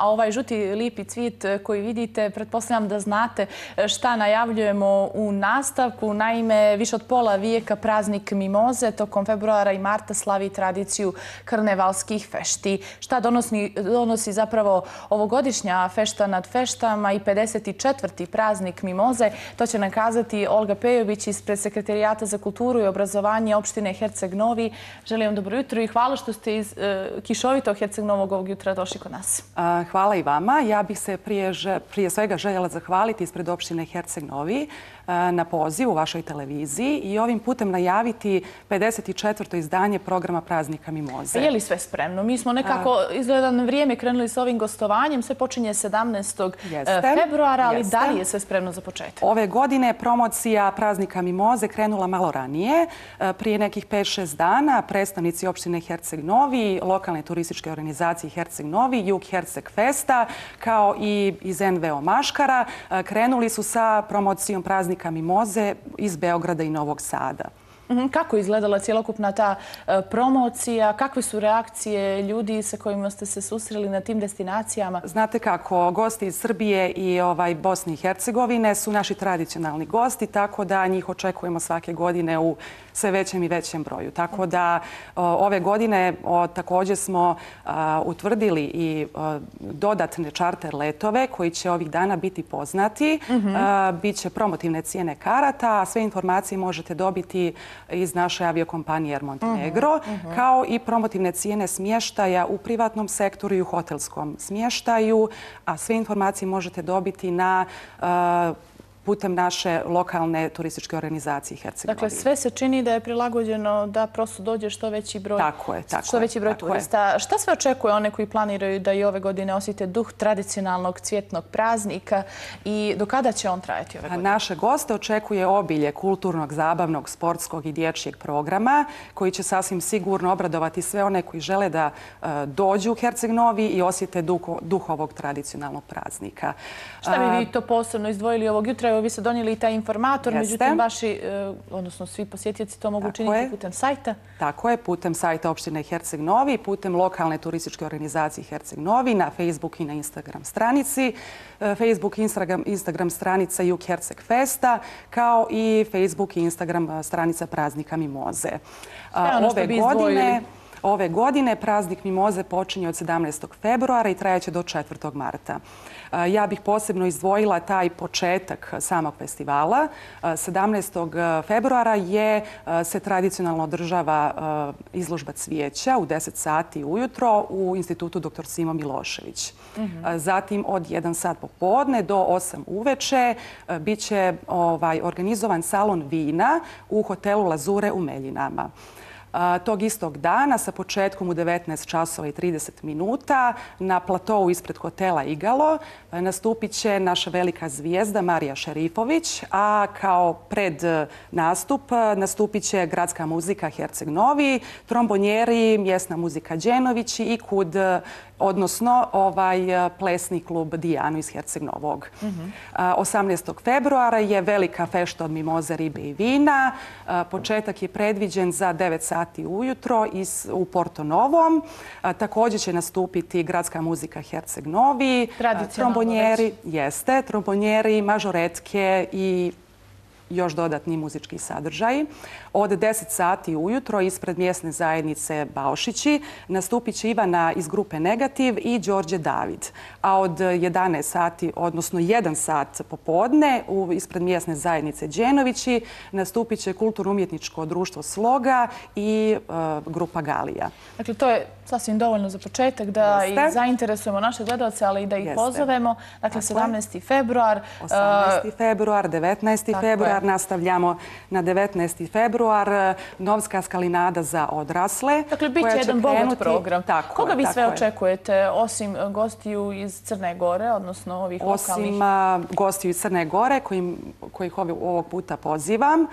a ovaj žuti lijepi cvijet koji vidite, pretpostavljam da znate šta najavljujemo u nastavku. Naime, više od pola vijeka praznik mimoze tokom februara i marta slavi tradiciju karnevalskih fešti. Šta donosi zapravo ovogodišnja fešta nad feštama i 54. praznik mimoze? To će nam kazati Olga Pejović ispred Sekretarijata za kulturu i obrazovanje opštine Herceg Novi. Želim vam dobro jutro i hvala što ste iz kišovitog Herceg Novog ovog jutra došli kod nas. Hvala i vama. Ja bih se prije svega željela zahvaliti ispred opštine Herceg Novi na pozivu u vašoj televiziji i ovim putem najaviti 54. izdanje programa Praznika mimoze. Je li sve spremno? Mi smo nekako izgleda na vrijeme krenuli s ovim gostovanjem. Sve počinje 17. februara, ali da li je sve spremno za početak? Ove godine promocija Praznika mimoze krenula malo ranije. Prije nekih 5-6 dana predstavnici opštine Herceg Novi, lokalne turističke organizacije Herceg Novi, Jug Herceg Festa, kao i iz NVO Maškara, krenuli su sa promocijom Praznika mimoze iz Beograda i Novog Sada. Kako je izgledala cijelokupna ta promocija? Kakve su reakcije ljudi sa kojima ste se susreli na tim destinacijama? Znate kako, gosti iz Srbije i Bosne i Hercegovine su naši tradicionalni gosti, tako da njih očekujemo svake godine u sve većem i većem broju. Tako da ove godine također smo utvrdili i dodatne čarter letove koji će ovih dana biti poznati. Biće promotivne cijene karata, a sve informacije možete dobiti iz naše aviokompanije Air Montenegro, kao i promotivne cijene smještaja u privatnom sektoru i u hotelskom smještaju, a sve informacije možete dobiti putem naše lokalne turističke organizacije Herceg Novi. Dakle, sve se čini da je prilagođeno da prosto dođe što veći broj turista. Šta sve očekuje one koji planiraju da i ove godine osjete duh tradicionalnog cvjetnog praznika i do kada će on trajati ove godine? Naše goste očekuje obilje kulturnog, zabavnog, sportskog i dječjeg programa koji će sasvim sigurno obradovati sve one koji žele da dođu u Herceg Novi i osjete duh ovog tradicionalnog praznika. Šta bi vi to posebno izdvojili ovog jutra? Vi ste donijeli i taj informator, međutim vaši, odnosno svi posjetioci to mogu učiniti putem sajta? Tako je, putem sajta opštine Herceg Novi, putem lokalne turističke organizacije Herceg Novi, na Facebook i na Instagram stranici. Facebook i Instagram stranica Jug Herceg Festa, kao i Facebook i Instagram stranica Praznika mimoze. Ove godine praznik mimoze počinje od 17. februara i trajaće do 4. marta. Ja bih posebno izdvojila taj početak samog festivala. 17. februara se tradicionalno održava izložba cvijeća u 10 sati ujutro u Institutu dr. Simo Milošević. Zatim od 1 sat popodne do 8 uveče bit će organizovan salon vina u hotelu Lazure u Meljinama. Tog istog dana sa početkom u 19 časova i 30 minuta na platovu ispred hotela Igalo nastupit će naša velika zvijezda Marija Šerifović, a kao pred nastup nastupit će gradska muzika Herceg Novi, trombonjeri, mjesna muzika Đenovići i KUD, odnosno plesni klub Dijanu iz Herceg Novog. 18. februara je velika fešta od mimoze, ribe i vina. Početak je predviđen za 9 sati ujutro u Porto Novom. Također će nastupiti gradska muzika Herceg Novi, trombonjeri, mažoretke i još dodatni muzički sadržaji. Od 10 sati ujutro ispred mjesne zajednice Baošići nastupit će Ivana iz grupe Negativ i Đorđe David. A od 11 sati, odnosno 1 sat popodne ispred mjesne zajednice Đenovići nastupit će Kulturno-umjetničko društvo Sloga i grupa Galija. Dakle, to je sasvim dovoljno za početak da i zainteresujemo naše gledalce, ali i da ih pozovemo. Dakle, 17. februar. 18. februar, 19. februar. Nastavljamo na 19. februar. Novska skalinada za odrasle. Dakle, bit će jedan bogat program. Koga vi sve očekujete, osim gostiju iz Crne Gore, odnosno ovih lokalnih? Osim gostiju iz Crne Gore, kojih ovog puta pozivam,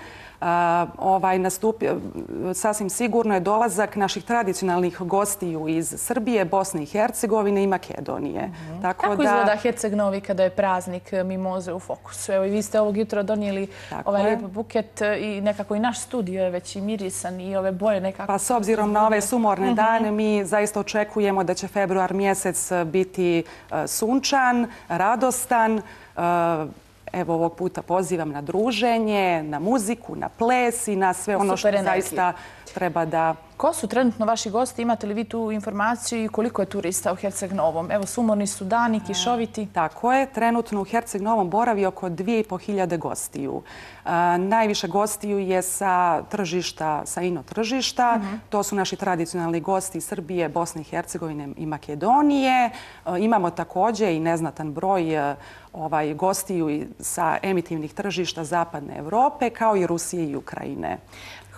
Sasvim sigurno je dolazak naših tradicionalnih gostiju iz Srbije, Bosne i Hercegovine i Makedonije. Kako izgleda Herceg Novi kada je praznik mimoze u fokusu? Evo i vi ste ovog jutra donijeli ovaj lijep buket i nekako i naš studio je već i mirisan i ove boje nekako... Pa s obzirom na ove sumorne dane mi zaista očekujemo da će februar mjesec biti sunčan, radostan. Evo ovog puta pozivam na druženje, na muziku, na ples i na sve ono što zaista treba da... Ko su trenutno vaši gosti? Imate li vi tu informaciju i koliko je turista u Herceg Novom? Evo, sumorni su dani, kišoviti. Tako je. Trenutno u Herceg Novom boravi oko 2500 gostiju. Najviše gostiju je sa tržišta, sa ino tržišta. To su naši tradicionalni gosti iz Srbije, Bosne i Hercegovine i Makedonije. Imamo također i neznatan broj gostiju sa emitivnih tržišta Zapadne Evrope, kao i Rusije i Ukrajine.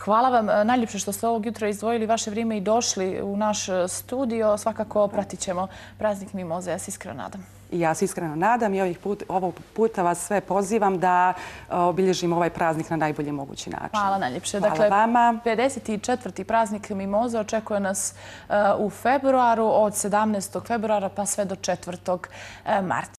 Hvala vam najljepše što ste ovog jutra izdvojili vaše vrijeme i došli u naš studio. Svakako pratit ćemo praznik mimoze. Ja se iskreno nadam. I ja se iskreno nadam i ovog puta vas sve pozivam da obilježimo ovaj praznik na najbolji mogući način. Hvala najljepše. Hvala vama. 54. praznik mimoze očekuje nas u februaru, od 17. februara pa sve do 4. marta.